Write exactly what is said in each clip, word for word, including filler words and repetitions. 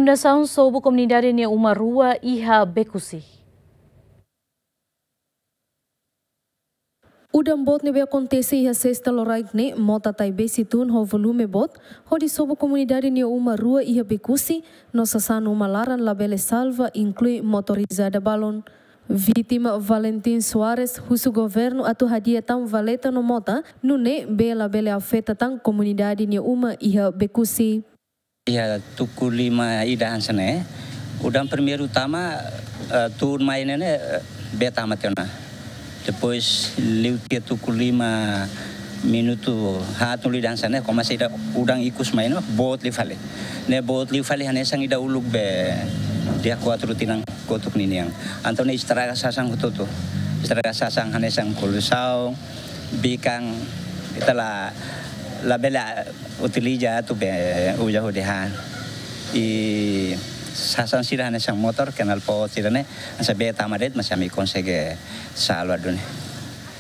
Inundasaun sobu komunidade nia uma rua iha Becusse. Udan boot ne'ebé akontese iha sesta loraik ne'e, mota taibesi tun ho volume boot, hodi sobu komunidade nia uma rua iha Becusse, no sasán uma laran labele salva, inklui motorizada balun. Vítima Valentin Soares husu governu atu hadi'a tan valeta no mota, nune'e bee labele afeta tan komunidade nia uma iha Becusse. Iha tuku lima ida hanesan ne'e, udan primeiru tama, eh, tun mai ne'e ne'e, eh, bee tama tiha ona. Depois liu tiha tuku lima minutu haat liu ida hanesan ne'e, komesa ida udan ikus mai ona, boot liu fali. Ne'e boot liu fali hanesan ida uluk be dia kuatru tinan kotuk ninian. Entaun ne'e estraga sasán hotu-hotu. Estraga sasán hanesan kolusaun, bikan, ita la, labele utiliza atu be uza hodi han. I sasán sira hanesan motor, knalpot sira-ne'e, hanesan bee tama de'it, mas ami konsege salva duni.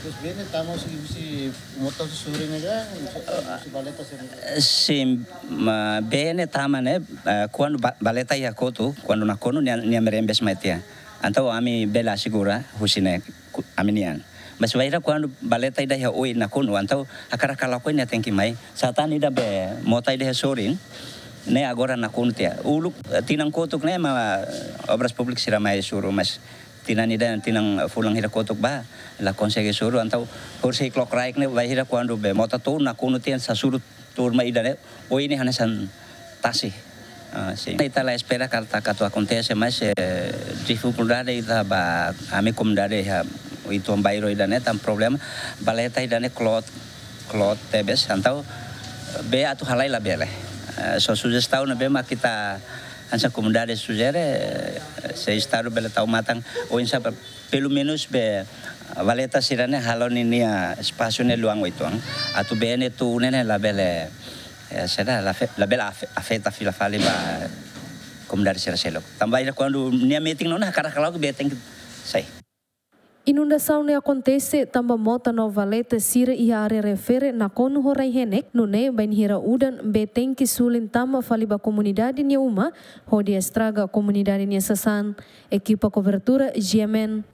Terus bee ne'e tama husi, husi motor husi sorin ne'e ka, husi, husi valeta sira-ne'e? Sin, ma, bee ne'e tama ne'e, eh, kuandu ba-, valeta iha kotuk, kuandu nakonu nia, nia merembes mai tiha. Entaun ami bele asegura husi ne'e ku-, ami-nian. Mas bainhira kuandu valeta ida iha oin nakonu, entaun hakarak halakon nia tenke mai. Sá tan ida be mota ida iha sorin, ne'e agora nakonu tiha. Uluk, eh, tinan kotuk ne'e mak, eh, Obras Públikas sira mai suru, mas tinan ida, tinan fulan hira kotuk ba, la konsege suru, entaun husi klokrike ne'e bainhira kuandu be mota tun nakonu tiha sasán suru turma ida ne'e, oin ne'e hanesan tasi. Ah, sin. Ita la espera katak atu akontese, mas, eh, difikuldade ita ba ami komunidade iha uitoan bairru ida ne'e tan problema, valeta ida ne'e kloot, kloot tebes, entaun bee atu halai labele. Eh, só sujestaun ne'ebé mak ita hanesan komunidade sujere, eh, se Estadu bele tau matan, oinsá pa pelumenus be valeta sira-ne'e halo ninia espasu ne'e luan uitoan. Atu bee ne'e tun ne'e labele, eh, saida, lafe-, labele afe-, afeta fila fali ba komunidade sira seluk. Tanba ida kuandu nia metin ona hakarak halakon bee tenke sai. Inundasaun ne'e akontese tanba mota no valeta sira iha área refere nakonu ho rai-henek, nune'e bainhira udan bee tenke sulin tama fali ba komunidade nia uma, hodi estraga komunidade nia sasán. Ekipa kobertura, G M N.